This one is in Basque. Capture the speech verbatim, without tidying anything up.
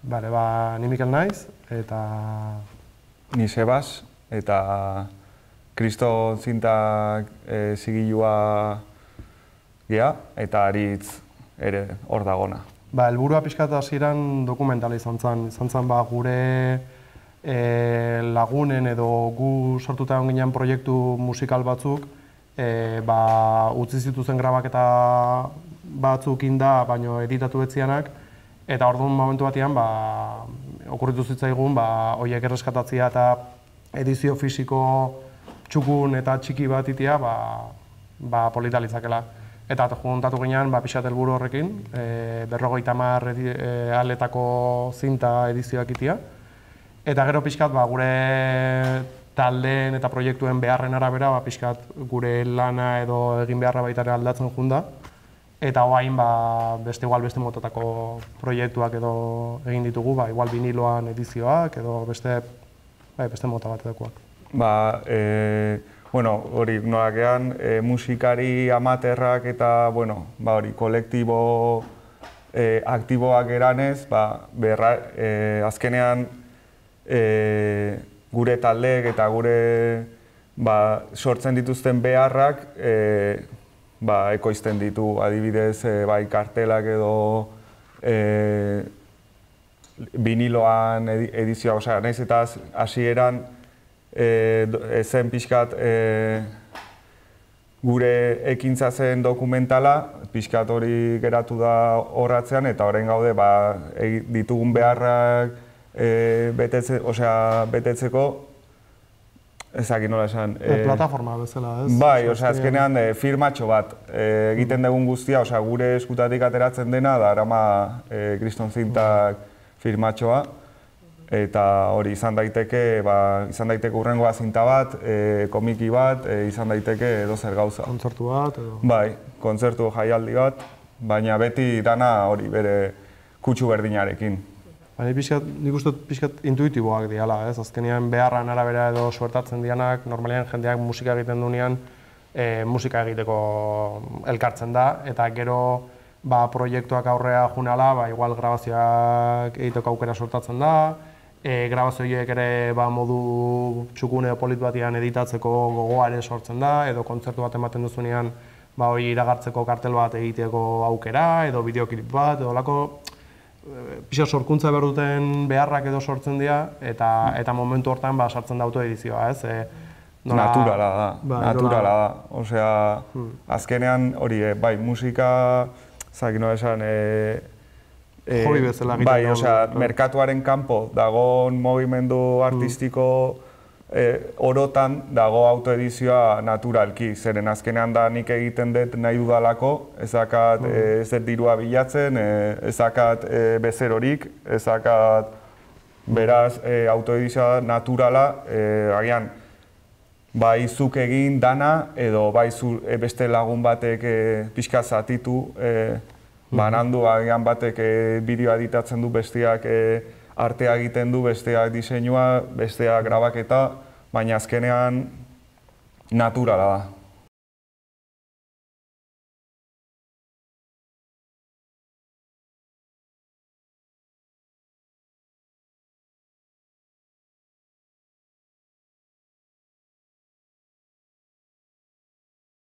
Bale, ba, ni Mikel naiz, eta... Ni Sebas, eta Kriston zintak e, zigilua gea, eta Aritz ere hor dagona. Ba, helburua pixkat hasieran dokumentala izan zen. Izan zen ba, gure e, lagunen edo gu sortuta egon ginen proiektu musikal batzuk, e, ba, utzi zituzen grabaketa batzuk inda, baino editatu betzianak, eta orduan momentu batean, ba, okurritu zitzaigun, ba, horiek erreskatatzea eta edizio fisiko txukun eta txiki bat itea, ba, ba, polita litzakela. Eta juntatu ginean, ba, pixat helburu horrekin, e, berrogeita hamar e, aletako zinta edizioak itea. Eta gero pixkat, ba, gure taldeen eta proiektuen beharren arabera, ba, pixkat gure lana edo egin beharra baita ere aldatzen junda. Eta hoain, ba, beste igual beste motatako proiektuak edo egin ditugu, ba, igual viniloan edizioak edo beste, bai, beste mota bat edakoak. Ba, e, bueno, hori nolakean, e, musikari amaterrak eta, bueno, ba, hori, kolektibo e, aktiboak eranez, ba, berra, e, azkenean e, gure taldeek eta gure ba, sortzen dituzten beharrak e, ba, ekoizten ditu, adibidez, e, bai, kartelak edo e, viniloan edizioa, osea, nahiz eta hasieran e, zen pixkat e, gure ekintza zen dokumentala, pixkat hori geratu da horratzean, eta orain gaude ba, e, ditugun beharrak e, betetze, osea, betetzeko, ezakit nola esan. E, plataforma bezala, ez? Bai, osea, azkenean e, firmatxo bat e, egiten dugun guztia, osea, gure eskutatik ateratzen dena, da arama e, Kriston zintak firmatxoa, eta hori izan daiteke, ba, izan daiteke urrengoa zinta bat, e, komiki bat, e, izan daiteke edozer gauza. Kontzertu bat edo? Bai, kontzertu jaialdi bat, baina beti dana hori bere kutsu berdinarekin. Baina nik uste pixkat intuitiboak diala, ez? Azkenean beharran arabera edo suertatzen dianak, normalean jendeak musika egiten duenean, e, musika egiteko elkartzen da, eta gero ba, proiektuak aurrea junala, ba, igual grabazioak egiteko aukera sortatzen da, e, grabazioiek ere ba, modu txukune edo polit batian editatzeko gogoa ere sortzen da, edo kontzertu bat ematen duzunean ba, hori iragartzeko kartel bat egiteko aukera, edo bideoklip bat, edo lako pixa sorkuntza behar duten beharrak edo sortzen dira, eta, eta momentu hortan ba, sartzen da autoedizioa, ez? E, nola... Naturala da, ba, naturala da. Osea, hmm. azkenean hori, e, bai, musika, zaki nola esan, e, e, hobi bezala egiten bai, dugu. Osea, merkatuaren kanpo dagoen mugimendu artistiko e, orotan dago autoedizioa naturalki, zeren azkenean da nik egiten dut nahi dudalako, ez dakat mm. e, ez dut dirua bilatzen, e, ez dakat e, bezerorik, ez dakat beraz e, autoedizioa naturala, e, agian bai zuk egin dana edo bai zu, e, beste lagun batek e, pixka zatitu e, banandu, agian batek e, bideoa editatzen du, besteak e, artea egiten du, besteak diseinua, besteak grabaketa, baina azkenean naturala da.